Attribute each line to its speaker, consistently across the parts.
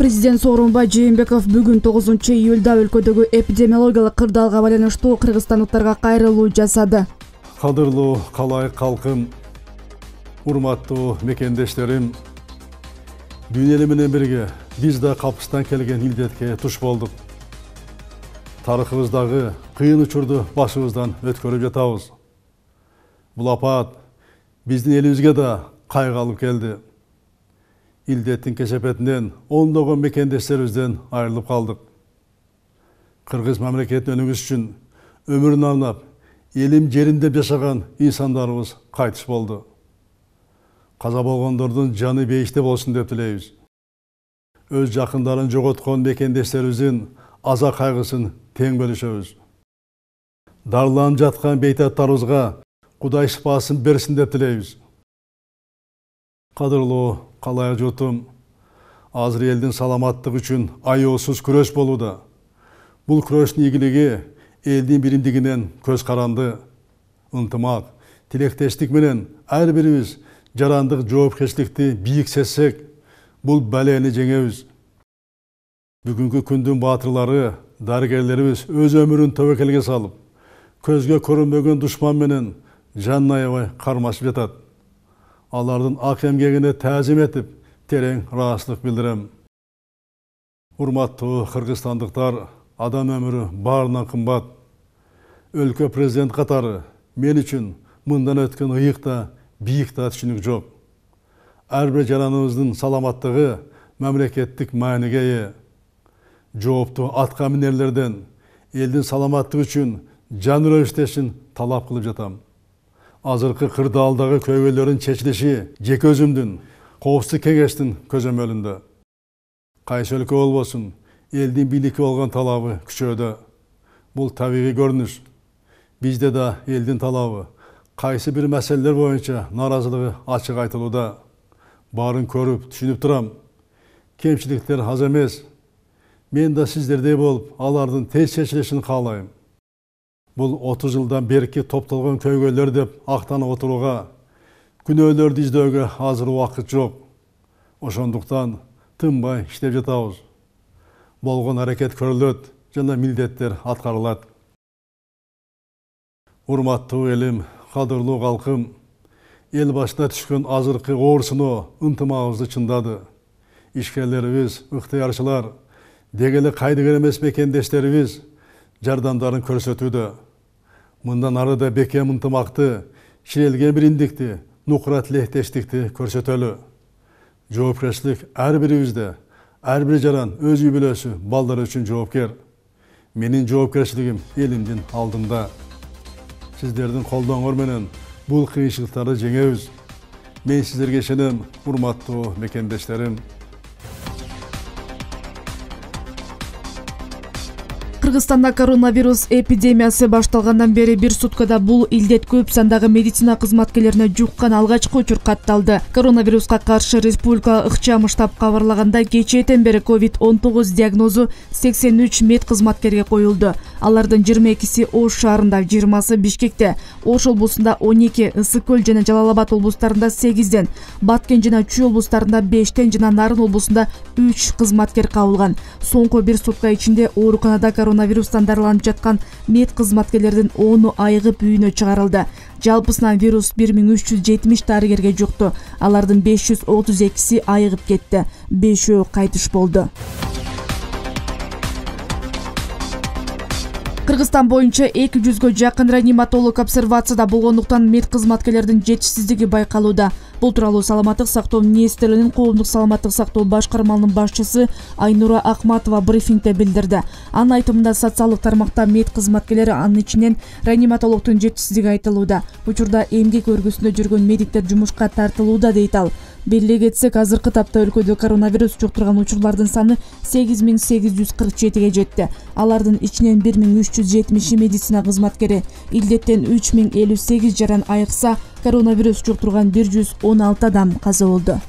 Speaker 1: Президент Сооронбай Жээнбеков бүгүн 9-июлда өлкөдөгү эпидемиологиялык кырдаалга байланыштуу кыргызстандыктарга кайрылуу жасады.
Speaker 2: Кадырлуу калайык калкым, урматтуу мекендештерим, дүйнө эли менен бирге биз да капыстан келген илдетке туш болдук. Тарыхыбыздагы кыйын учурду башыбыздан өткөрүп жатабыз. Бул апат биздин элибизге да кайгы алып келди. Илдеттин кесепетинен ондогон мекендештерибизден айрылып калдык. Кыргыз мамлекетин өнүгүш үчүн өмүрүн арнап, элим жерим деп жашаган инсандарыбыз кайтыш болду. Каза болгондордун жаны бейиште болсун деп тилейбиз. Өз жакындарын жоготкон мекендештерибиздин аза кайгысын тең бөлүшөбүз. Дарыланып жаткан бейтаптарыбызга Кудай шифасын берсин деп тилейбиз. Кадырлуу калайык журтум, азыр элдин саламаттыгы үчүн аеосуз күрөш болууда. Бул күрөштүн ийгилиги элдин биримдигинен көз каранды, ынтымак, тилектештик менен ар бирибиз жарандык жоопкерчиликти бийик сезсек, бул балени жеңебиз. Бүгүнкү күндүн баатырлары, дарыгерлерибиз өз өмүрүн тобокелге салып, көзгө көрүнбөгөн душман менен жанын аябай кармашып жатат. Алардын ак эмгегине таазим этип, терең ыраазычылык билдирем. Урматтуу кыргызстандыктар, адам өмүрү баарынан кымбат. Өлкө президент катары мен үчүн мындан өткөн ыйык да, бийик да түшүнүк жок. Ар бир жараныбыздын саламаттыгы мамлекеттик мааниге ээ. Жооптуу атка минерлерден элдин саламаттыгы үчүн жан үрө иштешин талап кылып жатам. Азыркы кырдаалдагы көйгөйлөрдүн чечилиши жеке өзүмдүн, коопсуздук кеңештин көзөмөлүндө. Кайсы өлкө болбосун, элдин бийликке болгон талабы күчөөдө. Бул табигый көрүнүш. Бизде да элдин талабы кайсы бир маселелер боюнча нааразылыгы ачык айтылууда. Баарын көрүп, түшүнүп турам. Кемчиликтер аз эмес. Мен да сиздердей болуп, алардын тез чечилишин каалайм. Бул 30 жылдан берки топтолгон көйгөйлөр деп актанып отурууга, күнөөлөрдү издөөгө азыр убакыт жок. Ошондуктан тынбай иштеп жатабыз. Болгон аракет көрүлөт жана милдеттер аткарылат. Урматтуу элим, кадырлуу калкым, эл башына түшкөн азыркы оор сыноо ынтымагыбызды чындады. Ишкерлерибиз, ыктыярчылар, деги эле кайдыгер эмес мекендештерибиз жардамдарын көрсөтүүдө. Мындан ары да бекем ынтымакты, ширелген биримдикти, нукура тилектештикти көрсөтөлү. Жоопкерчилик ар бирибизде, ар бир жаран өз үй бүлөсү, балдары үчүн жоопкер. Менин жоопкерчилигим элимдин алдында. Сиздердин колдооңор менен бул кыйынчылыктарды жеңебиз. Мен сиздерге ишенем, урматтуу мекендештерим.
Speaker 1: Кыргызстанда коронавирус эпидемиясы башталгандан бери бир суткада бул илдет көп сандагы медицина кызматкерлерине жуккан алгачкы учур катталды. Коронавируска каршы республика ыкчам штаб кабарлаганда кечээден бери COVID-19 диагнозу 83 мед кызматкерге коюлду. Алардын 22си Ош шаарында, 20сы Бишкекте, Ош облусунда 12, Ысык көл жана Жалал Абад облустарында 8ден, Баткен жана Чүй облустарында 5тен жана Нарын облусунда 3 кызматкер кабылган. Соңку бир сутка ичинде ооруканада коронавирустан дарыланып жаткан мед кызматкерлердин 10-у айыгып үйүнө чыгарылды. Жалпысынан вирус 1370 дарыгерге жукту. Алардын 532си айыгып кетти. 5-өө кайтыш болду. Кыргызстан боюнча 200гө жакын реаниматолог обсервацияда болгондуктан мед кызматкерлердин жетишсиздиги байкалууда. Бул тууралуу Саламаттык сактоо министрлигинин коомдук саламаттык сактоо башкармалынын башчысы Айнура Акматова брифингде билдирди. Анын айтымында социалдык тармакта мед кызматкерлери, анын ичинен реаниматологдун жетишсиздиги айтылууда. Учурда эмгек өргүсүндө жүргөн медиктер жумушка тартылууда дейт ал. Белгилей кетсек, азыркы тапта өлкөдө коронавирус жуктурган учурлардын саны 8847ге жетти. Алардын ичинен 1370 медицина кызматкери, илдеттен 3058 жаран айыкса, коронавирус жуктурган 116 адам каза болду.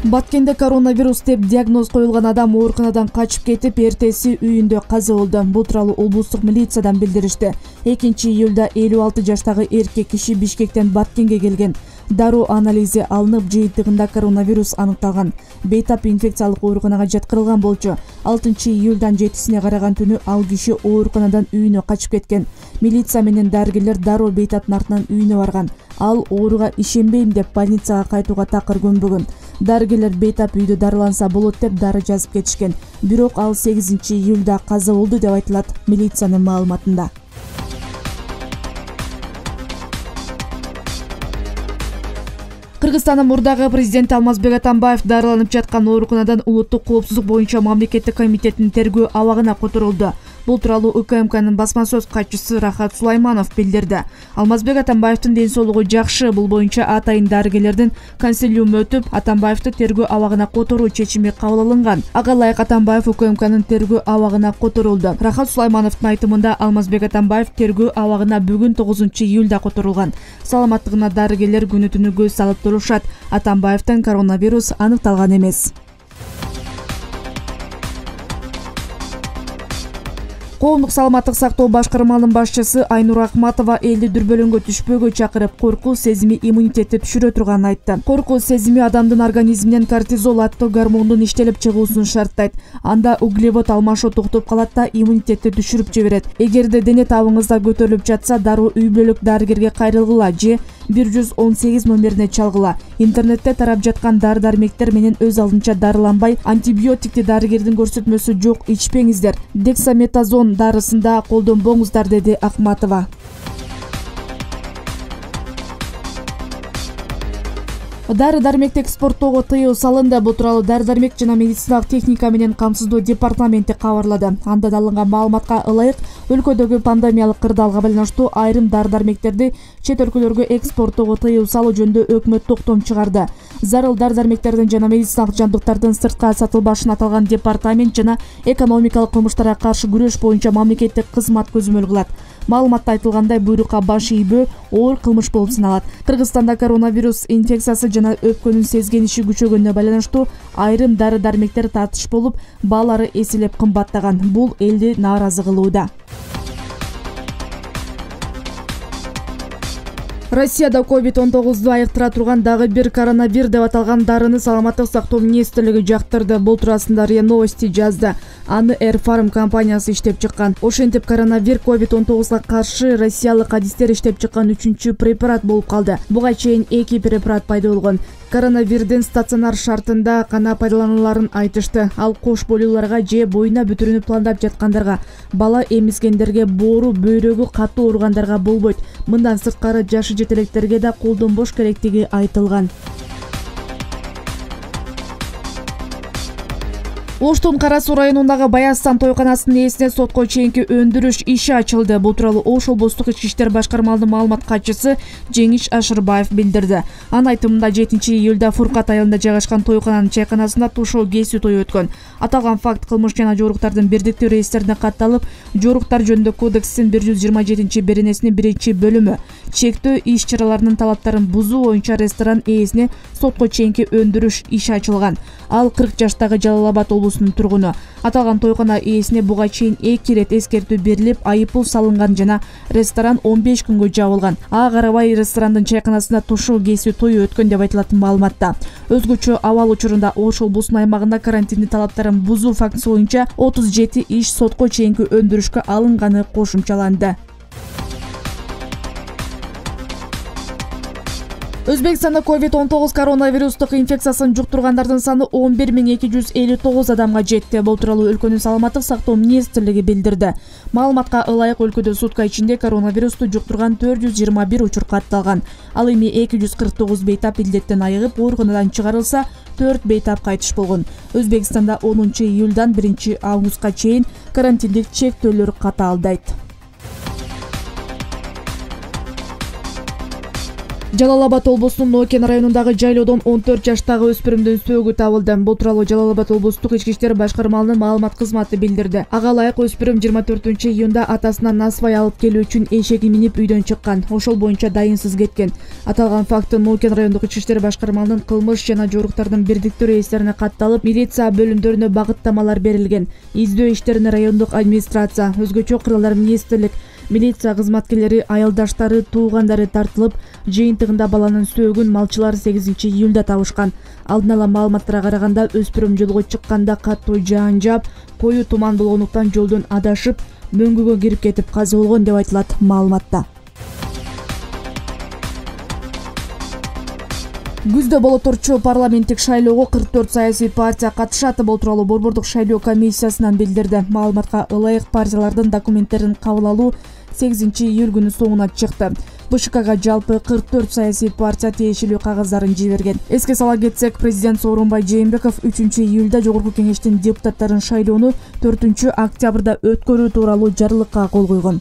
Speaker 1: Баткенде коронавирус деп диагноз коюлган адам ооруканадан качып кетип, эртеси үйүндө каза болду. Бул тууралуу облустук милициядан билдиришти. 2-июлда 56 жаштагы эркек киши Бишкектен Баткенге келген. Дароо анализи алынып, жыйынтыгында коронавирус аныкталган. Бейтап инфекциялык ооруканага жаткырылган болчу. 6-июлдан 7-сине караган түнү ал киши ооруканадан үйүнө качып кеткен. Милиция менен дарыгерлер дароо бейтаптын артынан үйүнө барган. Ал ооруга ишенбейм деп больницага кайтууга такыр көнбөгөн. Дарыгерлер бейтап үйдө дарыланса болот деп дары жазып кетишкен. Бирок ал 8-июлда каза болду деп айтылат милициянын маалыматында. Кыргызстандын мурдагы президенти Алмазбек Атамбаев дарыланып жаткан ооруканадан улуттук коопсуздук боюнча мамлекеттик комитеттин тергөө абагына которулду. Бул тууралуу УКМКнын басма сөз катчысы Рахат Сулайманов билдирди. Алмазбек Атамбаевдин ден соолугу жакшы. Бул боюнча атайын дарыгерлердин консилиуму өтүп, Атамбаевди тергөө абагына которуу чечими кабыл алынган. Ага ылайык Атамбаев УКМКнын тергөө абагына которулду. Рахат Сулаймановдун айтымында Алмазбек Атамбаев тергөө абагына бүгүн 9-июлда которулган. Саламаттыгына дарыгерлер күнү түнү көз салып турушат. Атамбаевдин коронавирус аныкталган эмес. Коомдук саламаттык сактоо башкармалынын башчысы Айнур Акматова элди дүрбөлөңгө түшпөөгө чакырып, коркуу сезими иммунитетти түшүрө турганын айтты. Коркуу сезими адамдын организминен кортизол аттуу гормондун иштелип чыгуусун шарттайт. Анда углевод алмашуу токтоп калат да иммунитетти түшүрүп жиберет. Эгерде дене табыңызда көтөрүлүп жатса, дароо үй бүлөлүк дарыгерге кайрылгыла же 118 номерине чалгыла. Интернетте тарап жаткан дары-дармектер менен өз алдынча дарыланбай, антибиотикти дарыгердин көрсөтмөсү жок ичпеңиздер. Дексаметазон дарысында колдонбоңуздар, деди Акматова. Дары-дармекти экспорттоого тыюу салынды. Бул тууралуу дары-дармек жана медициналык техника менен камсыздоо департаменти кабарлады. Анда алынган маалыматка ылайык, өлкөдөгү пандемиялык кырдаалга байланыштуу айрым дары-дармектерди чет өлкөлөргө экспорттоого тыюу салуу жөнүндө өкмөт токтом чыгарды. Зарыл дары-дармектердин жана медициналык жабдыктардын сыртка сатылбашын аталган департамент жана экономикалык кылмыштарга каршы күрөш боюнча мамлекеттик кызмат көзөмөл кылат. Маалыматта айтылгандай, буйрукка баш ийбөө оор кылмыш болуп саналат. Кыргызстанда коронавирус инфекциясы жана өпкөнүн сезгениши күчөгөнүнө байланыштуу айрым дары-дармектер тартыш болуп, баалары эселеп кымбаттаган. Бул элди нааразы кылууда. Россияда COVID-19 айыктыра турган дагы бир коронавир деп аталган дарыны саламаттык сактоо министрлиги жактырды. Бул туурасында РИА Новости жазды. Аны Air Farm компаниясы иштеп чыккан. Ошентип коронавир COVID-19га каршы россиялык адистер иштеп чыккан 3-чү препарат болуп калды. Буга чейин 2 препарат пайда болгон. Коронавирдин стационар шартында гана пайдалануларын айтышты. Ал кош бойлууларга же боюна бүтүрүүнү пландап жаткандарга, бала эмизгендерге, боору, бөйрөгү катуу ооругандарга болбойт. Мындан сырткары жашы жетелектерге да колдонбош керектиги айтылган. Оштун Кара Суу районундагы Баястан тойканасынын ээсине сотко чейинки өндүрүш иши ачылды. Бул тууралуу Ош облустук ички иштер башкармалынын маалымат катчысы Жеңиш Ашырбаев билдирди. Анын айтымында 7-июлда Фуркат айылында жайгашкан тойкананын чайканасында тушоо кесүү тою өткөн. Аталган факт кылмыш жана жоруктардын бирдиктүү реестрине катталып, жоруктар жөнүндө кодекстин 127-беренесинин 1-бөлүмү чектөө иш-чараларынын талаптарын бузуу боюнча ресторан ээсине сотко чейинки өндүрүш иши ачылган. Ал 40 жаштагы Жалал-Абад облусунун тургуну. Аталган тойкана ээсине буга чейин 2 ирет эскертүү берилип, айыппул салынган жана ресторан 15 күнгө жабылган. Ага карабай ресторандын чайканасында тушоо кесүү тою өткөн деп айтылат маалыматта. Өзгөчө абал учурунда Ош облусунун аймагында карантиндин талаптарын бузуу фактысы боюнча 37 иш сотко чейинки өндүрүшкө алынганы кошумчаланды. Өзбекстанда COVID-19 коронавирустук инфекциясын жуктургандардын саны 11259 адамга жетти. Бул тууралуу өлкөнүн саламаттык сактоо министрлиги билдирди. Маалыматка ылайык өлкөдө сутка ичинде коронавирусту жуктурган 421 учур катталган. Ал эми 249 бейтап илдеттен айыгып, ооруканадан чыгарылса, 4 бейтап кайтыш болгон. Өзбекстанда 10-июлдан 1-августка чейин карантиндик чектөөлөр катаалдайт. Жалал-Абад облусунун Нокен районундагы жайлоодон 14 жаштагы өспүрүмдүн сөөгү табылды. Бул тууралуу Жалал-Абад облустук ички иштер башкармалынын маалымат кызматы билдирди. Ага ылайык өспүрүм 24-июнда атасынан насыбай алып келүү үчүн эшеги минип үйдөн чыккан. Ошол боюнча дайынсыз кеткен. Аталган факты Нокен райондук ички иштер башкармалынын кылмыш жана жоруктардын бирдиктүү реестрине катталып, милиция бөлүмдөрүнө багыттамалар берилген. Издөө иштерине райондук администрация, өзгөчө кыралдар министрлик, Милиция кызматкерлери аялдаштары, туугандары тартылып, жыйынтыгында баланын сөөгүн малчылар 8 июлда табышкан. Алдын ала маалыматтарга караганда өспүрүм жолго чыкканда катуу жаан жаап, коюу туман болгондуктан жолдон адашып, мөңгүгө кирип кетип каза болгон деп айтылат маалыматта. Күздө боло турчу парламенттик шайлоого 44 саясий партия катышат. Бул тууралуу Борбордук шайлоо комиссиясынан билдирди. Маалыматка ылайык партиялардын документтерин кабыл алуу 8 июль күнү соңуна чыкты. БШКга жалпы 44 саясий партия тиешелүү кагаздарын жиберген. Эске сала кетсек, президент Сооронбай Жээнбеков 3 июлда Жогорку Кеңештин депутаттарын шайлоону 4 октябрда өткөрүү тууралуу жарлыкка кол койгон.